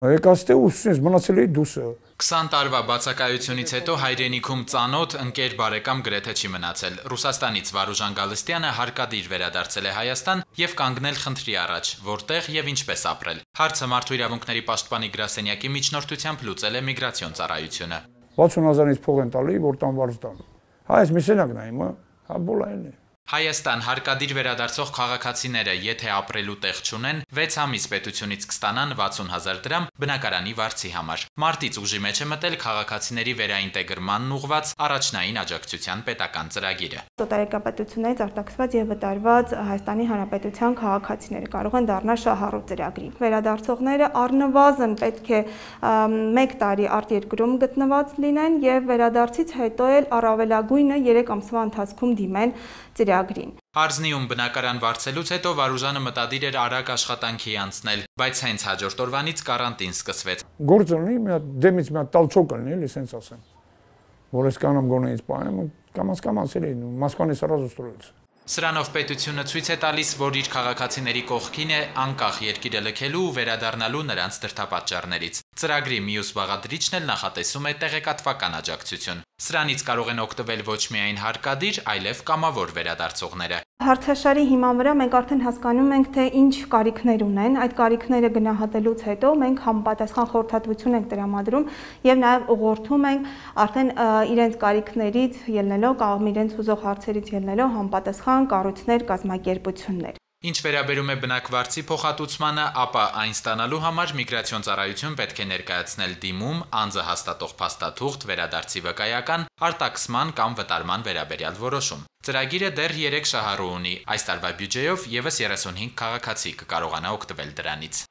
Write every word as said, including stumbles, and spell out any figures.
Եկածտե ուսումնից մնացել էի դուսը։ քսան տարվա բացակայությունից հետո հայրենիքում ծանոթ, ընկեր, բարեկամ գրեթե չի մնացել։ Ռուսաստանից Վարուժան Գալստյանը հարկադիր վերադարձել է Հայաստան եւ կանգնել խնդրի առաջ, որտեղ եւ ինչպես ապրել։ Հարցը Մարդու իրավունքների պաշտպանի գրասենյակի միջնորդությամբ լուծել է միգրացիոն ծառայությունը։ վաթսուն հազարից փող են տալի, որ տան վարձ տան։ Հա, այս մի սենյակն է հիմա, հա բոլայնն է։ Հայաստան հարկադիր վերադարձող քաղաքացիները, եթե ապրելու տեղ չունեն, վեց ամիս պետությունից կստանան վաթսուն հազար դրամ բնակարանի վարձի համար։ Մարտից ուժի մեջ է մտել քաղաքացիների վերաինտեգրմանն ուղղված առաջնային աջակցության պետական ծրագիրը։ Օտարերկրապետություններից արտաքսված եւ վտարված Հայաստանի Հանրապետության քաղաքացիները կարող են դառնալ շահառու ծրագրի։ Վերադարձողները առնվազն պետք է մեկ տարի արտերկրում գտնված լինեն եւ վերադարձից հետո էլ առավելագույնը երեք ամսվա ընթացքում դիմեն ծրագրին։ Արզնիում բնակարան վարձելուց հետո Վարուժանը մտադիր էր արագ աշխատանքի անցնել, բայց հենց հաջորդ օրվանից կարանտին սկսվեց։ Գործ ունի, մի հատ դեմից մի հատ տալչոկ լինի, էլի սենց ասեմ։ Որ ես կանամ գոնեից պահեմ, կամաց կամաց էլի Մոսկվանից սրազу ստроился։ Սրանով պետությունը ցույց է տալիս, որ իր քաղաքացիների կողքին է անկախ երկիրը լքելու ու վերադառնալու նրանց դրդապատճառներից։ Ծրագրի մյուս բաղադրիչն էլ նախատեսում է տեղեկատվական աջակցություն։ Սրանից կարող են օգտվել ոչ միայն հարկադիր, այլև կամավոր վերադարձողները։ Հարցաշարի հիման վրա մենք արդեն հասկանում ենք, թե ինչ կարիքներ ունեն, այդ կարիքները գնահատելուց հետո մենք համապատասխան խորհրդատվություն ենք տրամադրում եւ նաեւ ուղղորդում ենք արդեն իրենց կարիքներից ելնելով կամ իրենց ուզող հարցերից ելնելով համապատասխան կառույցներ, կազմակերպություններ։ Ինչ վերաբերում է բնակվարձի փոխհատուցմանը, ապա այն ստանալու համար միգրացիոն ծառայություն պետք է ներկայացնել դիմում, անձը հաստատող փաստաթուղթ, վերադարձի վկայական, արտաքսման կամ վտարման վերաբերյալ որոշում։ Ծրագիրը դեռ երեք շահառու ունի, այս տարվա բյուջեով եւս երեսունհինգ քաղաքացի կկարողանա օգտվել դրանից։